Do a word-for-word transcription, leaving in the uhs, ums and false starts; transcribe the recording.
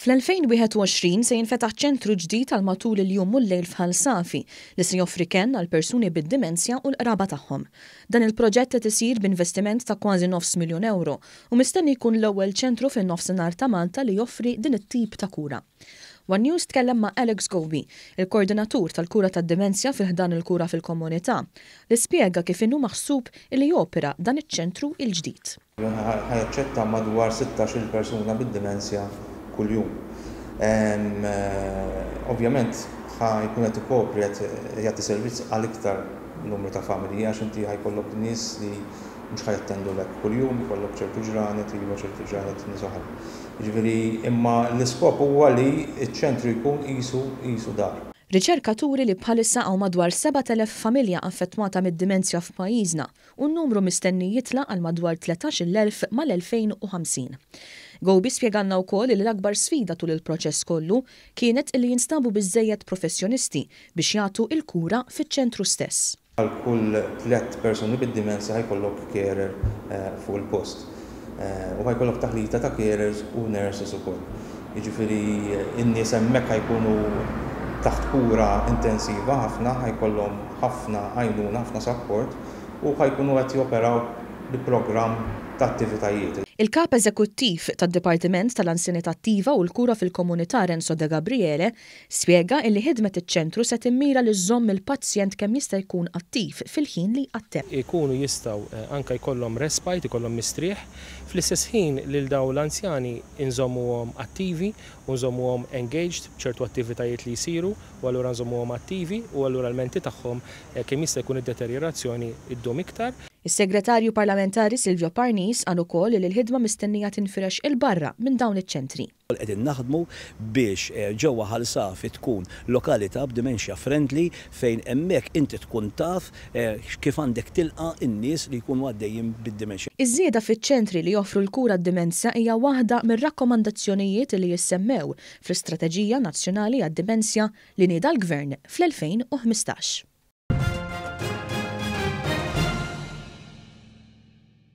Fl-elfejn wieħed u għoxrin se jinfetaħ ċentru ġdid għal matul il-jum u l-lejl f'Ħal Safi li se joffri kenn għal persuni bid-dimensja u l-qraba tagħhom. Dan il-proġett qed isir b'investiment ta' kważi nofs miljun euro u mistenni jkun l-ewwel ċentru fin-nofsinhar ta' Malta li joffri din it-tip ta' kura. One News tkellem ma' Alex Gobi, il-koordinatur tal-kura tad-dimensja fi ħdan il-kura fil-komunità, li spjega kif inhu maħsub li jopera dan iċ-ċentru il-ġdid. Ħa jaċċetta madwar sittax-il persuna bid-dimensja kuljum. Em, eh, ovvjament ħa jkun qed ikopri qed jagħti servizz għal iktar numru ta' familji, għax inti ħa jkollok nies li mhux ħa jattendu lek kuljum, ikollok ċertu ġranet, iva ċertu ġranet nies oħra. Jiġifieri, imma l-iskop huwa li ċ-ċentru jkun qisu, qisu dar. Riċerka turi li bħalissa hawn madwar sebat elef familja affettwata mid-dimensja f'pajjiżna u n-numru mistenni jitla' għal madwar tletax-il elf mal-elfejn u ħamsin. Gobi spjegalna wkoll li l-akbar sfida tul il-proċess kollu kienet li jinstabu biżżejjed professjonisti biex jagħtu il-kura fiċ-ċentru stess. Għal kull tliet persuni bid-dimensja ħa jkollok carer, eh, fuq il-post. Eh, u ħa jkollok taħlita ta' carers u nurses ukoll. Jiġifieri n-nies hemmhekk ħa jkunu taħt kura intensiva ħafna, ħa jkollhom ħafna għajnuna, ħafna support u ħa jkunu qed joperaw bi programm ta' attivitajiet. Il-kap eżekuttiv tad-Dipartiment tal-Anzjanità Attiva u l-Kura fil-Komunità Renzo De Gabriele spjega illi ħidmet iċ-ċentru se timmira li żżomm il-pazjent kemm jista' jkun attiv fil-ħin li jqatteb. Ikunu jistgħu, eh, anke jkollhom respite, ikollhom mistrieħ, fl-istess ħin lil dawn l-anzjani inżommuhom attivi u nżommuhom engaged b'ċertu attivitajiet li jsiru u allura nżommuhom attivi u allura l-menti tagħhom, eh, kemm jista' jkun id-deterjorazzjoni iddum iktar. Is-Segretarju Parlamentari Silvio Parnis qal ukoll li l-ħidma mistennija tinfirex il-barra minn dawn iċ-ċentri. Qegħdin naħdmu biex, eh, ġewwa Ħal Safi tkun lokalità b'dementia friendly fejn hemmhekk inti tkun taf, eh, kif għandek tilqa' n-nies li jkunu għaddejjin bid-dimensja. Iż-żieda fiċ-ċentri li joffru l-kura d-dimensja hija waħda mir-rakkomandazzjonijiet li jissemmew fl-Istrateġija Nazzjonali għad-Dimensja li nieda l-Gvern fl-elfejn u ħmistax.